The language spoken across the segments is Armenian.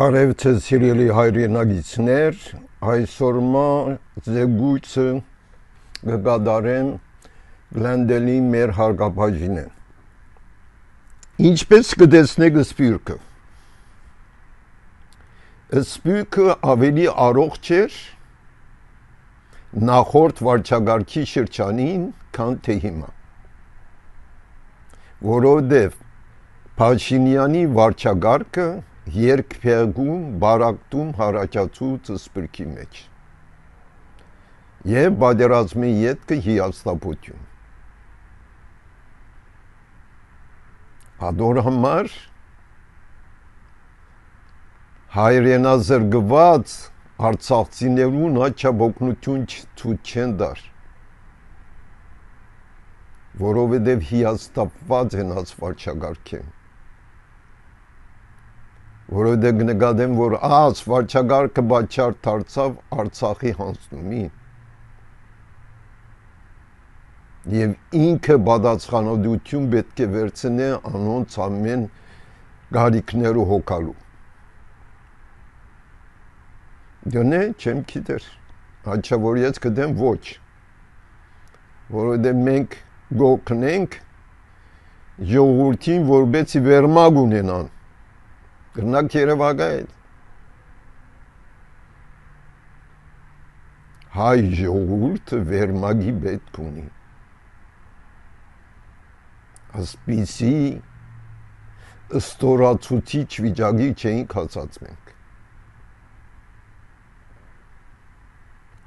Բարև ձեզ սիրելի հայրենագիտներ, այսօրմա զեկույցը կկատարեմ Գլենդելի մեր հարգապահին։ Ինչպես կտեսնեք սպյուրքը։ Սպյուրքը ավելի առողջ էր նախորդ վարչագարքի շրջանին, քան թե հիմա։ Որովհետև Փաշինյանի վարչագարքը երկփեղում բարակտում հարաճացու սպրկի մեջ եւ բادرազմի ետքը հիաստապություն ադոր համար հայրենազրկված արցախցիներուն աչաբոկնություն ցույց չեն դար որովհետեւ հիաստապված են աց վարչագարքեն որովհետև նկատեմ, որ աց վարչագարքը բաչար դարձավ Արցախի հանձնումի եւ ինքը պատասխանատվություն պետք է վերցնե անոնց ամեն գարիքները հոգալու։ Դոնե չեմ գիտեր, հաճա որ ես կդեմ ոչ, որովհետև մենք գոքնենք ժողովրդին որբեցի վերմագ ունենան Գրնակ Երևակայել հայ ժողովուրդը վերմագի պետք ունի ասպիսի ստորացուցիչ վիճակի չէինք հասած մենք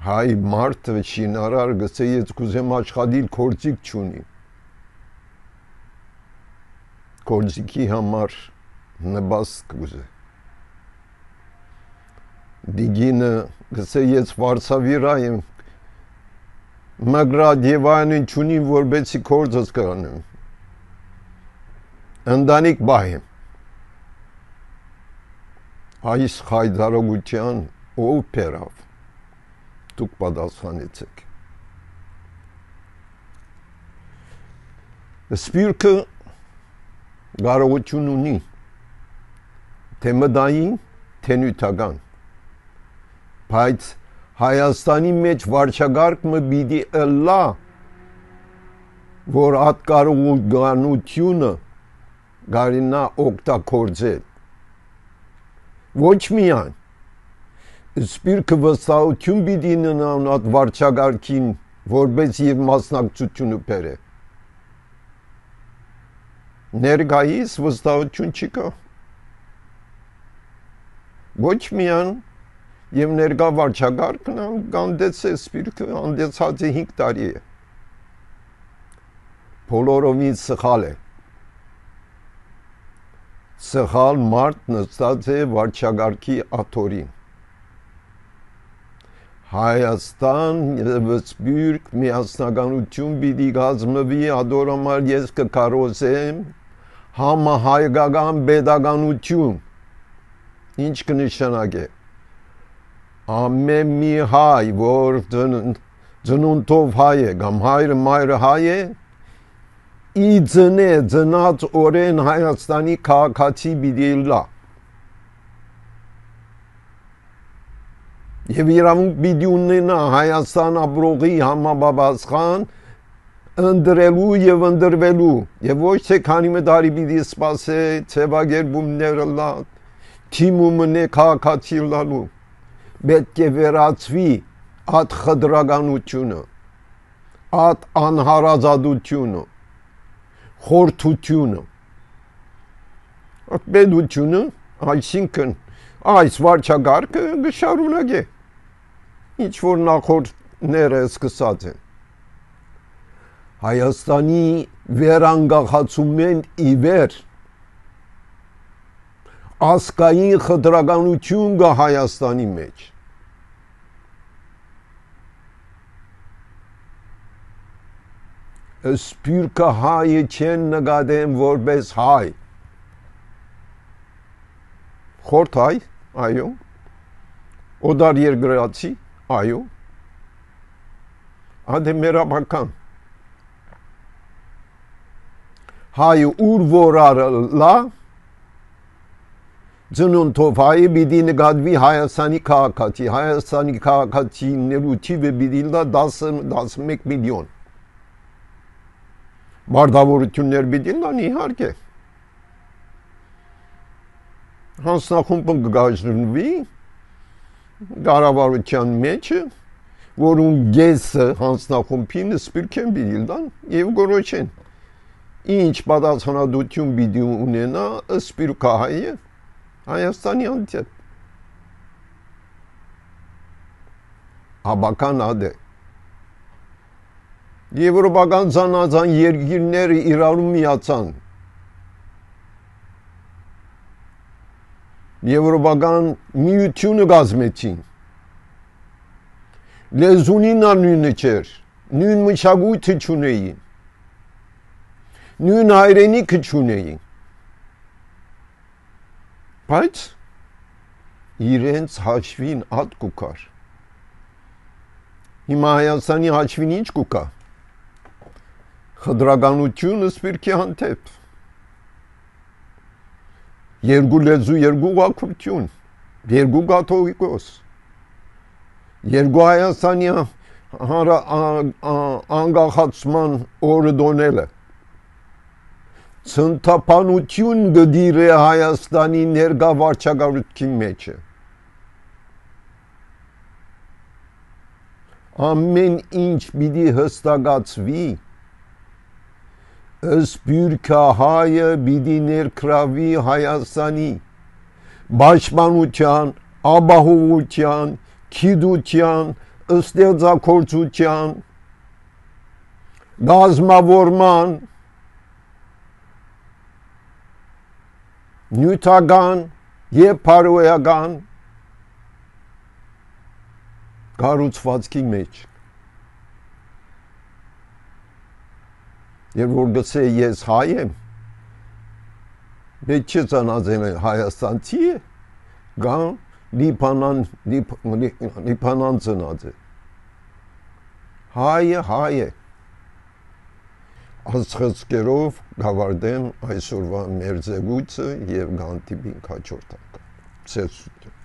հայ մարդը շինարար գսե ես կուզեմ աշխատիլ կորձիկ չունի կորձիկի համար նպաստ կուզե դիգինը գսե ես վարսավիրա եմ մագրատ եւ այնին չունիմ որբեցի կորձս կրանեմ ընդանիք բայեմ այս խայդարողության ով պերավ դուք պատասխանեցեք սպյուրքը կարողություն ունի թե մտային, թե նյութական, բայց Հայաստանի մեջ վարչագարկը պիտի ըլլա, որ այդ կարողությունը գարինա օգտագործել։ Ոչ միայն, սպյուրքը վստահություն պիտի ունենան այդ վարչագարկին, որպես եւ մասնակցությունը բերե։ Ներկայիս վստահություն չկա։ Ոչ միայն եւ ներկա վարչագարկն անդեց է սպյուրքը անդեցած է 5 տարի է բոլորովին սխալ է սխալ մարդ նստած է վարչագարկի աթորին Հայաստան եւ սպյուրք միասնականություն պիտի գազմվի ադորամար ես կկարոզեմ համահայկական pedagogiություն ինչ կնշանակե ամեն մի հայ որ ծնունդով հայ է կամ հայրը մայրը հայ է ի ծնե ծնած օրեն Հայաստանի քաղաքացի պիտի լա եւ իրավունք պիտի ունենա Հայաստան ապրողի համապատասխան ընդրելու եւ ընդրվելու եւ ոչ թե քանի մտարի պիտի սպասե ցեվագերբումները լա թիմումն է քաղաքացի լալու պետք է վերացվի այդ խտրականությունը այդ անհարազատությունը խորթությունը այդ պետությունը այսինքն այս վարչագարկը գշարունակե ինչ որ նախորդները սկսած են Հայաստանի վերանգախացումեն ի վեր ասկային խտրականություն կա Հայաստանի մեջ սպյուրքը հայը չեն նկատեմ որպես հայ խորթ հայ այո օդար երկրացի այո ադե մերաբական հայը ուր որ արլա Ծնունդով հայը պիտի նկատվի Հայաստանի քաղաքացի, Հայաստանի քաղաքացիներու թիվը պիտի լա 10-11 միլիոն։ Մարդավորություններ պիտի լան իհարկե։ Հանձնախումբը կգաժրնվի կառավարության մեջը, որում գեսը հանձնախումբին սպիրկեն պիտի լան եւ գորոչեն։ Ինչ պատասխանատվություն պիտի ունենա սպիրկահայը Հայաստանի անձը։ Աբական ադե։ Եվրոպական զանազան երկիրները իրարու միացան։ Եվրոպական միությունը կազմեցին։ Լեզունին նույնը չէր, նույն մշակույթը չունեին, նույն հայրենիքը չունեին։ Բայց իրենց հաշվին ատ կուկար։ Հիմա Հայաստանի հաշվին ինչ կուկա։ Խտրականությունը սպիրկի հանդեպ։ Երկու լեզու, երկու ուղղակություն, երկու կաթողիկոս, երկու Հայաստանի անկախացման օրը դոնելը։ Ցնտապանություն գդիրե Հայաստանի ներկա վարչակարգի մեջը։ Ամեն ինչ պիտի հստակացվի, սփյուռքը հայը պիտի ներկրավի Հայաստանի պաշտպանության, ապահովության, գիտության, ստեղծագործության, գազམ་ավորման, նյութական եւ փարոյական կառուցվածքի մեջ։ Երբ որ գցե ես հայ եմ, մեծ չծանածեն Հայաստանցի է, գան լիբանան ծնած է։ Հայը հայ է։ Աստղծկերով գավարդեմ այսօրվա մեր ձգույցը և գանտիպին կաչորդ անգամ։ Ցեցություն։